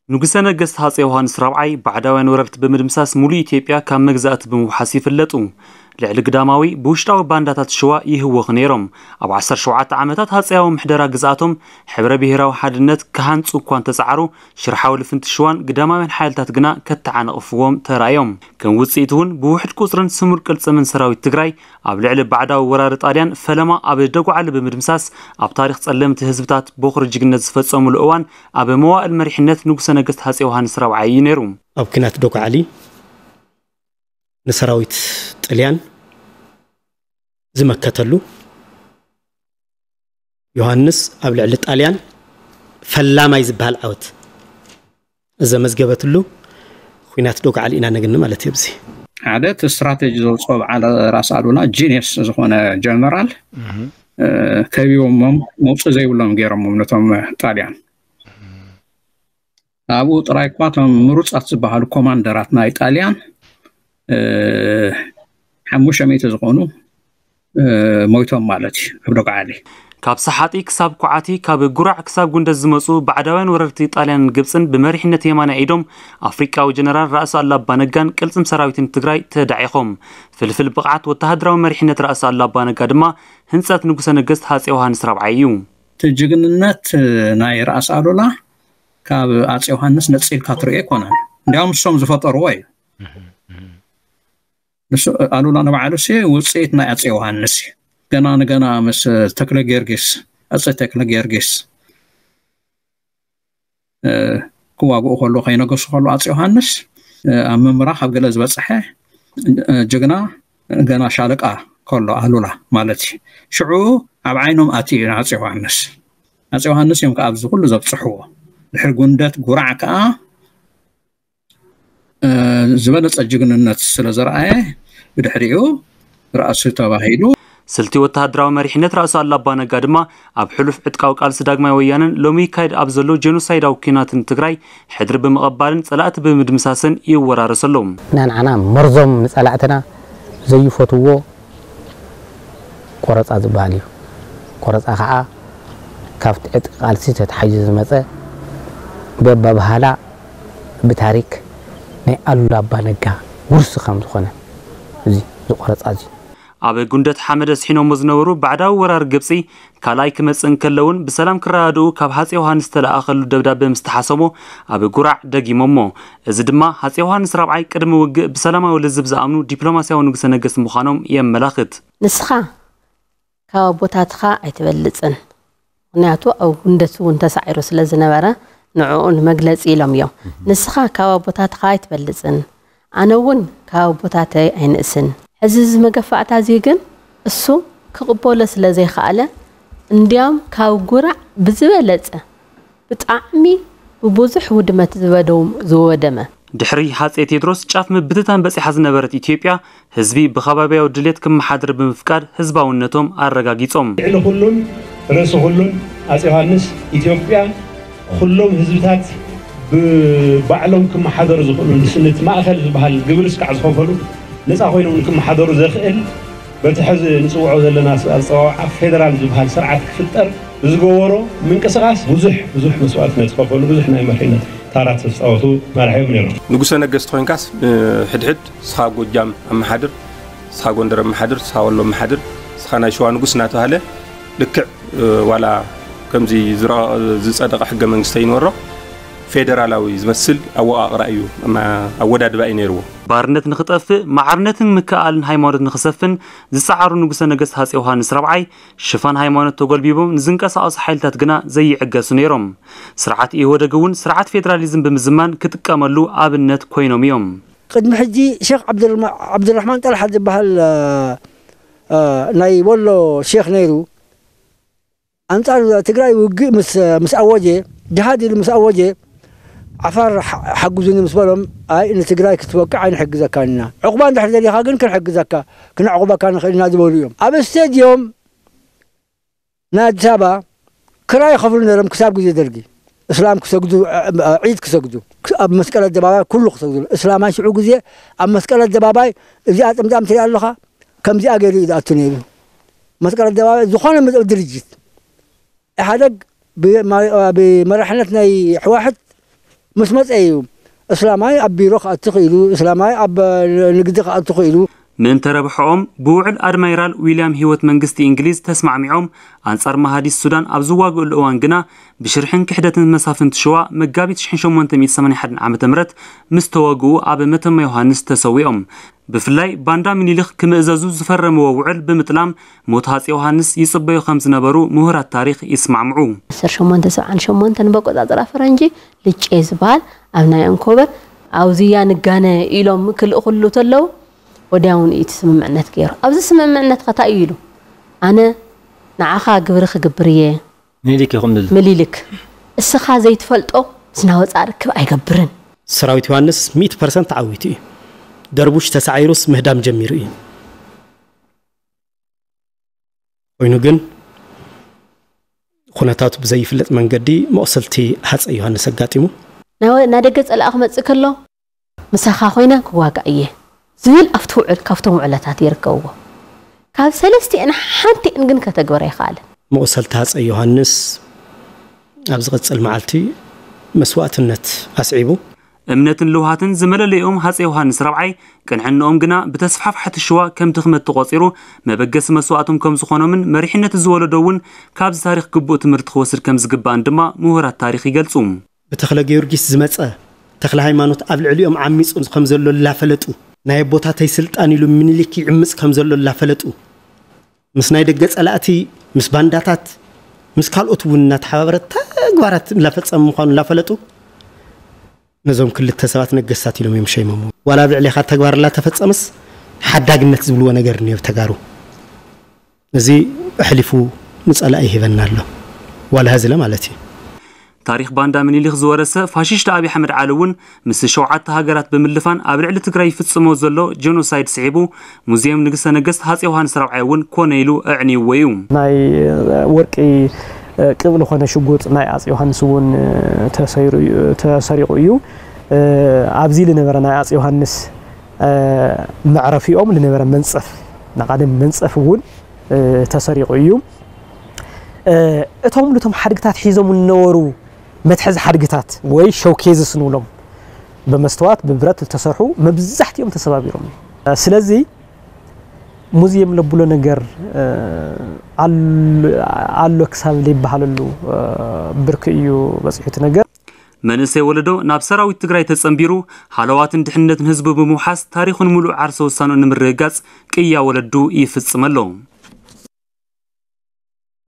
ንጉሰ ነገስት ሃፀይ ዮሃንስ ራብዓይ ባዕዳውያን ወረርቲ ብምድምሳስ ሙሉእ ኢትዮጵያ ካብ መግዛእቲ ብምውሓስ ይፍለጡ። ልዕሊ ግዳማዊ ብውሽጣዊ ባንዳታት ሽዋ ይህወኹ ነይሮም። ኣብ ዓሰርተ ሸውዓተ ዓመታት ሃፀያዊ ምሕደራ ግዝኣቶም ሕብረ ብሄራዊ ሓድነት ክሃንፁ እኳ እንተፀዓሩ፣ ሽርሓዊ ልፍንቲ ሽዋን ግዳማውያን ሓይልታት ግና ከተዓናቕፍዎም ተራእዮም። ከም ውፅኢት እውን ብውሕድ ቁፅርን ስሙር ቅልፅምን ሰራዊት ትግራይ ኣብ ልዕሊ ባዕዳዊ ወራሪ ጣልያን ፈለማ ኣብ ደጉዓሊ ብምድምሳስ ኣብ ታሪኽ ጸለምቲ ህዝብታት ቦኽሪ ጅግነት ዝፈጸሙሉ እዋን ኣብ መዋእል መሪሕነት ንጉሰ ነገስት ሃፀይ ዮሃንስ ራብዓይ እዩ ነይሩ። ኣብ ኲናት ዶግዓሊ ንሰራዊት ጥልያን ዝመከተሉ ዮሃንስ ኣብ ልዕሊ ጣልያን ፈላማይ ዝበሃል ዓወት ዘመዝገበትሉ ኲናት ዶግዓሊ ኢና ነግኒ ማለት እዩ። ኣብዚ ሓደ እቲ ስትራቴጂ ዘውፅኦ በዓል ራስ ኣሉላ ጂኒየስ ዝኾነ ጀነራል ከቢቦሞም መውፅእ ዘይብሎም ገይሮሞም ነቶም ጣልያን። ኣብኡ ጥራይ እኳ እቶም ምሩፃት ዝበሃሉ ኮማንደራት ናይ ጣልያን ሓሙሽተ ሚእቲ ዝኾኑ ሞይቶም ማለት እዩ ኣብ ዶግዓሊ። ካብ ሰሓጢ ክሳብ ኩዓቲ፣ ካብ ጉራዕ ክሳብ ጉንደት ዝመፁ ባዕዳውያን ወረርቲ ጣልያንን ግብፅን ብመሪሕነት የማናይ ኢዶም ኣፍሪቃዊ ጀነራል ራእሲ ኣሉላ ኣባነጋን ቅልፅም ሰራዊትን ትግራይ ተዳዒኾም። ፍልፍል ብቕዓት ወተሃደራዊ መሪሕነት ራእሲ ኣሉላ ኣባነጋ ድማ ህንፀት ንጉሰ ነገስት ሃፀይ ዮሃንስ ራብዓይ እዩ። እቲ ጅግንነት ናይ ራእሲ ኣሉላ ካብ ኣፀይ ዮሃንስ ነፂልካ ትሪኦ ኣይኮነን። እንዲያውም እሶም ዝፈጠርዎ እዩ። ንሱ ኣሉላ ንባዕሉ ሲ ውፅኢት ናይ ኣፀይ ዮሃንስ እዩ። ገና ንገና ምስ ተክለ ጊዮርጊስ ኣፀይ ተክለ ጊዮርጊስ ክዋግኡ ከሎ ከይነገሱ ከሎ ኣፀይ ዮሃንስ ኣብ ምምራኽ ኣብ ገለ ዝበፀሐ ጅግና ገና ሻለቃ ከሎ ኣሉላ ማለት እዩ። ሽዑ ኣብ ዓይኖም ኣትዩ እዩ ንኣፀይ ዮሃንስ። ኣፀይ ዮሃንስ እዮም ከዓ ኣብዚ ኩሉ ዘብፅሕዎ። ድሕሪ ጉንደት ጉራዕ ከዓ ዝበለፀ ጅግንነት ስለ ዘርኣየ ብድሕሪኡ ራእሲ ተባሂሉ። ስልቲ ወተሃደራዊ መሪሕነት ራእሲ ኣሉላ ኣባነጋ ድማ ኣብ ሕሉፍ ዕጥቃዊ ቃልሲ ዳግማይ ወያነን ሎሚ ይካየድ ኣብ ዘሎ ጀኖሳይዳዊ ኲናትን ትግራይ ሕድሪ ብምቕባልን ፀላእቲ ብምድምሳስን ይወራረስ ኣሎ። ንዓና መርዞም ንፀላእትና ዘይፈትዎ ቆረፃ ዝበሃል እዩ። ቆረፃ ከዓ ካብቲ ዕጥቂ ቃልሲ ተታሒዙ ዝመፀ በባህላ ብታሪክ ናይ ኣሉላ ኣባነጋ ውርሲ ከም ዝኾነ እዚ ዝቆረፃ እዚ ኣብ ጉንደት ሓመድ ኣስሒኖሞ ዝነበሩ ባዕዳዊ ወራር ግብፂ ካልኣይ ክመፅእ እንከለውን ብሰላም ክረዳድኡ ካብ ሃፀይ ዮሃንስ ዝተለኣኸሉ ደብዳበ ምስ ተሓሰሞ ኣብ ጉራዕ ደጊሞሞ። እዚ ድማ ሃፀይ ዮሃንስ ራብዓይ ቅድሚ ውግእ ብሰላማዊ ልዝብ ዝኣምኑ ዲፕሎማስያዊ ንጉሰ ነገስት ምዃኖም የመላኽት። ንስኻ ካብ ኣቦታትኻ ኣይትበልጽን። ምኽንያቱ ኣብ ጉንደት እውን ተሳዒሩ ስለ ዝነበረ ንዕኡ ንመግለጺ ኢሎም እዮም። ንስኻ ካብ ኣቦታትኻ ኣይትበልጽን፣ ኣነ እውን ካብ ኣቦታተይ ኣይንእስን። ሕዚ እዚ መገፋዕታ እዚ ግን እሱ ክቕበሎ ስለ ዘይከኣለ፣ እንዲያውም ካብ ጉራዕ ብዝበለጸ ብጣዕሚ ብብዙሕ ውድመት ዝበደው-፣ ዝወደመ። ድሕሪ ሃጼ ቴድሮስ ጫፍ ምብትታን በጺሓ ዝነበረት ኢትዮጵያ፣ ህዝቢ ብኸባቢያዊ ድሌት ክመሓደር ብምፍቃድ ህዝባውነቶም ኣረጋጊጾም። ልዕሊ ኩሉን ርእሲ ኩሉን ኣጼ ዮሃንስ ኢትዮጵያ ኩሎም ህዝብታት ብባዕሎም ክመሓደሩ ዝኽእሉ ንስንቲ ማእከል ዝበሃል ግብሪ እስካዕ ዝኸፈሉ ነጻ ኮይኖም ንክመሓደሩ ዘኽእል በቲ ሕዚ ንጽውዖ ዘለና ኣጸዋውዓ ፌደራል ዝበሃል ስርዓት ክፍጠር ብዝገበሮ ምንቅስቓስ ብዙሕ ብዙሕ መስዋእትነት ዝኸፈሉ ብዙሕ ናይ መሪሕነት ታራ ዝተጻወቱ መራሒ እዮም ነይሮም። ንጉሰ ነገስት ኮይንካስ ሕድሕድ ንስኻ ጎጃም ኣመሓድር፣ ንስኻ ጎንደር ኣመሓድር፣ ንስኻ ወሎ ኣመሓድር፣ ንስኻ ናይ ሸዋ ንጉስ እናተባህለ ልክዕ ዋላ ከምዚ ዝጸደቐ ሕገ መንግስቲ ኣይነበሮ ፌደራላዊ ዝመስል ኣወቓቕራ እዩ ኣወዳድባ እዩ ነይርዎ። ባርነት ንኽጠፍእ ማዕርነትን ምክእኣልን ሃይማኖት ንኽሰፍን ዝጸዓሩ ንጉሰ ነገስት ሃፀይ ዮሃንስ ራብዓይ ሽፋን ሃይማኖት ተጎልቢቦም ንዝንቀሳቐሱ ሓይልታት ግና ዘይዕገሱ ነይሮም። ስርዓት ኢህወደግ እውን ስርዓት ፌደራሊዝም ብምዝማን ክጥቀመሉ ኣብነት ኮይኖም እዮም። ቅድሚ ሕጂ ሼክ ዓብድራሕማን ጠልሓ ዝበሃል ናይ ወሎ ሼክ ነይሩ። ኣንጻር ትግራይ ውግእ ምስ ኣወጀ፣ ጅሃድ ኢሉ ምስ ኣወጀ፣ ዓፋር ሓጉዙኒ ምስ በሎም፣ ኣይ ንትግራይ ክትወቅዕ ኣይንሕግዘካን ኢና፣ ዕቑባ እንድሕር ደሊኻ ግን ክንሕግዘካ፣ ክነዕቑበካ ንኽእል ኢና ዝበሉ እዮም። ኣብ ስቴድዮም ናይ ኣዲስ ኣበባ ክራይ ይኸፍሉ ነይሮም ክሳብ ግዜ ደርጊ። እስላም ክሰግዱ፣ ዒድ ክሰግዱ፣ ኣብ መስቀል ኣደባባይ ኩሉ ክሰግዱ። እስላማይ ሽዑ ግዜ ኣብ መስቀል ኣደባባይ እዚኣ ጥምጣም ትሪኣ ኣለኻ፣ ከምዚኣ ገይሩ እዩ ዝኣቱ ነይሩ። መስቀል ኣደባባይ ዝኾነ ድርጅት ኢህኣደግ ብመራሕነት ናይ ሕዋሕት ምስ መጸ እዩ። እስላማይ ኣብ ቢሮ ክኣቱ ክኢሉ፣ እስላማይ ኣብ ንግዲ ክኣቱ ክኢሉ። ምእንተ ረብሐኦም ብውዕል ኣድማይራል ዊልያም ህይወት መንግስቲ እንግሊዝ ተስማዕሚዖም ኣንጻር መሃዲስ ሱዳን ኣብ ዝዋግእሉ እዋን ግና ብሽርሕን ክሕደትን መሳፍንቲ ሽዋ መጋቢት ሸሞንተ ሚእቲ ሰማንያን ሓደን ዓመተ ምህረት ምስ ተወግኡ ኣብ መተማ ዮሃንስ ተሰዊኦም። ብፍላይ ባንዳ ምኒልክ ክምእዘዙ ዝፈረምዎ ውዕል ብምጥላም ሞት ሃፀይ ዮሃንስ ይፅበዩ ከም ዝነበሩ ምሁራት ታሪክ ይስማዕምዑ። ዓሰርተ ሸሞንተ ሰብዓን ሸሞንተን በቆፃፅራ ፈረንጂ ልጨ ዝበሃል ኣብ ናይ ኣንኮበር ኣውዝያ ንጋነ ኢሎም ክልእኹሉ ተለዉ ወዲያውን እቲ ስምምዕነት ገይሩ። ኣብዚ ስምምዕነት ከታይ እዩ ኢሉ ኣነ ንዓኻ ግብሪ ክግብር እየ። ምኒልክ ይኹም ንል ምሊልክ እስኻ ዘይትፈልጦ ዝናወፃ ርክብ ኣይገብርን። ሰራዊት ዮሃንስ ሚእቲ ፐርሰንት ተዓዊቱ እዩ። ደርቡሽ ተሳዒሩስ ምህዳም ጀሚሩ እዩ። ኮይኑ ግን ኩነታቱ ብዘይፍለጥ መንገዲ መቑሰልቲ ሃፀይ ዮሃንስ ኣጋጢሙ። ናወ- ናደገ ፀላእ ክመፅእ ከሎ ምሳኻ ኮይነ ክዋጋእ እየ ዝብል ኣብቲ ውዕል ካብቶም ውዕለታት ይርከብዎ። ካብ ሰለስቲአን ሓንቲአን ግን ከተግበረ ኣይከኣለን። መቑሰልቲ ሃፀይ ዮሃንስ ኣብ ዝቐፅል መዓልቲ መስዋእትነት ኣስዒቡ። እምነትን ልውሃትን ዝመለለይኦም ሃፀይ ዮሃንስ ራብዓይ ቅንዕንኦም ግና ብተስፋፍሓቲ ሽዋ ከም ድኽመት ተቖፂሩ መበገሲ መስዋእቶም ከም ዝኾኖምን መሪሕነት ዝወለዶ እውን ካብዚ ታሪክ ግቡእ ትምህርቲ ክወስድ ከም ዝግባእን ድማ ምሁራት ታሪክ ይገልፁ። ብተኽለ ጊዮርጊስ ዝመፀ ተኽለ ሃይማኖት ኣብ ልዕሊኦም ዓሚፁ ከም ዘሎ ላፈለጡ ናይ ኣቦታተይ ስልጣን ኢሉ ምኒልክ ይዕምፅ ከም ዘሎ ላፈለጡ ምስ ናይ ደገ ፀላእቲ ምስ ባንዳታት ምስ ካልኦት እውን እናተሓባበረ ተግባራት እናፈፀመ ምዃኑ እናፈለጡ ነዞም ክልተ ሰባት ነገስታት ኢሎም እዮም ሸይሞሞ። ዋላ ኣብ ልዕሌኻ ተግባር እናተፈፀመስ ሓዳግነት ዝብልዎ ነገር እኒኦ ተጋሩ። እዚ ኣሕሊፉ ንፀላኢ ይህበና ኣሎ ዋላ ህዝለ ማለት እዩ። ታሪክ ባንዳ ምኒልክ ዝወረሰ ፋሽስት ኣብይ ኣሕመድ ዓሊ እውን ምስ ሸውዓተ ሃገራት ብምልፋን ኣብ ልዕሊ ትግራይ ይፍፅሞ ዘሎ ጀኖሳይድ ስዒቡ ሙዚየም ንግስተ ነገስት ሃፀይ ዮሃንስ ራብዓይ እውን ኮነ ኢሉ ኣዕንይዎ እዩ። ናይ ወርቂ ቅብሊ ኮነ ሽጉጥ ናይ ኣፅ ዮሃንስ እውን ተሰይሩ እዩ- ተሰሪቑ እዩ። ኣብዚ ዝነበረ ናይ ኣፅ ዮሃንስ መዕረፊኦም ዝነበረ መንፀፍ ናቃደም መንፀፍ እውን ተሰሪቑ እዩ። እቶም ነቶም ሓድግታት ሒዞም ዝነበሩ መትሐዚ ሓድግታት ወይ ሸውኬዝስ ንብሎም ብመስተዋት ብብረት ዝተሰርሑ መብዛሕትኦም ተሰባቢሮም እዮም። ስለዚ ሙዚየም ለብሎ ነገር ኣሎ ክሳብ ዘይበሃለሉ ብርኪ እዩ በፂሑ እቲ ነገር። መንእሰይ ወለዶ ናብ ሰራዊት ትግራይ ተፀንቢሩ ሃለዋትን ድሕንነትን ህዝቡ ብምውሓስ ታሪኹን ሙሉእ ዓርሰ ውሳንኡ ንምርግጋፅ ቅያ ወለዱ ይፍፅም ኣሎ።